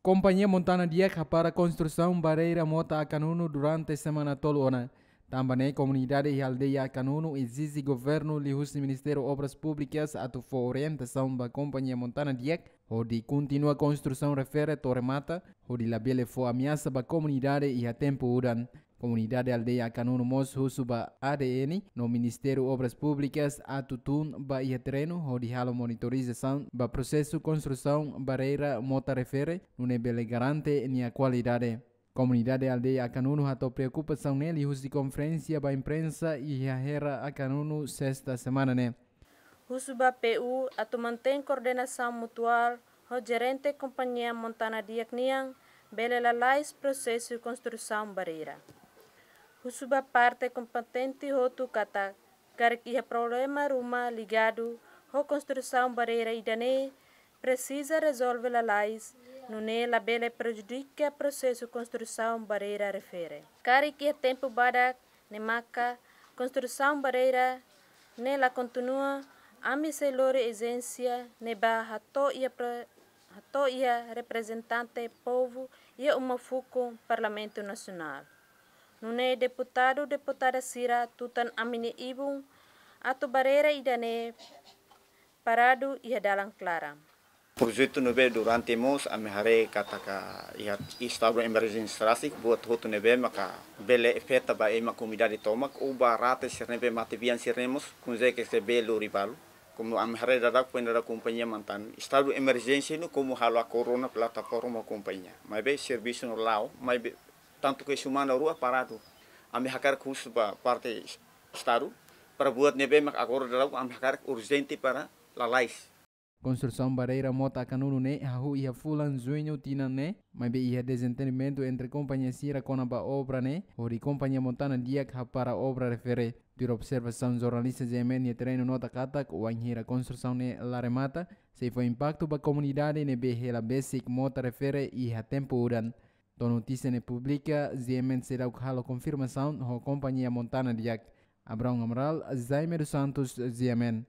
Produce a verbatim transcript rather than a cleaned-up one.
Kompañia Montana Diak hapara konstrusaun barreira mota Akanunu durante semana tolu ona. Tanba ne'e komunidade iha aldeia Akanunu ezije governu liuhusi Ministériu Obras Públikas atu fó orientasaun ba Kompañia Montana Diak hodi kontinua konstrusaun refere to'o remata, hodi labele fó ameasa ba komunidade iha tempu udan. Komunidade aldeia Akanunu mós husu ba A D N no Ministériu Obras Públikas atu tun ba iha terrenu hodi halo monitorizasaun ba prosesu konstrusaun barreira mota refere, nune'e bele garante nia kualidade. Komunidade aldeia Akanunu hato'o preokupasaun ne'e liuhusi konferénsia ba imprensa iha Hera Akanunu sesta semana ne'e. Husu ba P U atu mantein koordenasaun mutuál ho jerente Kompañia Montana Diak nian bele lalais prosesu konstrusaun barreira. Husu ba parte kompetente hotu katak karik iha problema ruma ligadu ho konstrusaun barreira ida-ne'e presiza rezolve lalais, nune'e labele prejudika prosesu konstrusaun barreira refere. Karik iha tempu badak ne'e maka konstrusaun barreira ne'e la kontinua, ami sei lori ezijénsia ne'ebá hato'o iha pre-, hato'o iha reprezentante povu iha uma fukun Parlamentu Nasionál. Nune'e deputadu, deputada sira tutan ami-nia ibun atu barreira ida-ne'e paradu iha dalan klaran. Projetu ne'ebé durante mós ami haree katak iha estadu emerjénsia rasik buat hotu ne'ebé maka bele afeta ba ema komunidade tomak ou ba rate sira ne'ebé matebian sira-ne'e mós, kunze ke se bele lori balu. Komu ami haree dadauk, foin dadauk kompañia mantan estadu emerjénsia no komu halo akordu ona plataforma kompañia. Maibé servisu ne'e la'o, maibé tantu ke semana rua paradu. Ami hakarak husu ba parte estadu para buat ne'ebé mak agora dadauk ami hakarak urjente para lalais. Konstrusaun barreira mota Akanunu ne'e hahú iha fulan juñu tinan ne'e, maibé iha dezentendimentu entre kompañia sira kona-ba obra ne'e, hodi Kompañia Montana Diak hapara obra refere. Tuir observasaun jornalista G M N iha terrenu nota katak, wainhira konstrusaun ne'e la remata, sei fó impaktu ba komunidade ne'ebé hela besik mota refere iha tempu udan. To'o notísia ne'e publika, G M N seidauk halo konfirmasaun ho Kompañia Montana Diak. Abraão Amaral, Jaime dos Santos, G M N.